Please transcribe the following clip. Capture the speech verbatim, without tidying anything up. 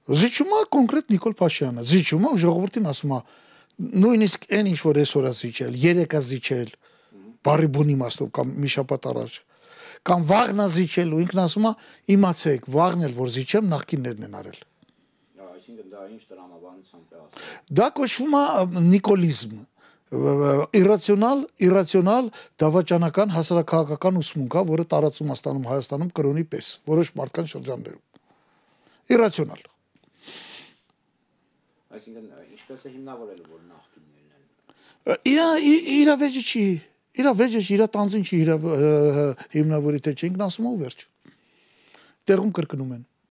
Զիջում է կոնկրետ Նիկոլ Փաշինյանը, զիջում է ժողովրդին ասում է նույնիսկ այն ինչ որ այսօր է զիջել, երեք է զիջել, բարի բուն իմաստով կամ մի շաբաթ առաջ, կամ վաղն է զիջել ու ինքն ասում է իմացեք, վաղն էլ որ զիջեմ նախկիններն են արել։ Այսինքն դա ինչ տրամաբանությամբ է ասում։ Դա կոչվում է նիկոլիզմ, իրացիոնալ, իրացիոնալ դավաճանական հասարակական ուսմունք է, որը տարածում է ստանում Հայաստանում կրոնի պես, որոշ մարդկան շրջաններում։ Իրացիոնալ։ Այսինքն ինչպես է հիմնավորել, որ նախկիններն են։ Իր իր վեճը չի, իր վեճը չի, իր տանձին չի հիմնավորի թե չէ, ինքն ասում է ու վերջ։ Տեղում կրկնում են։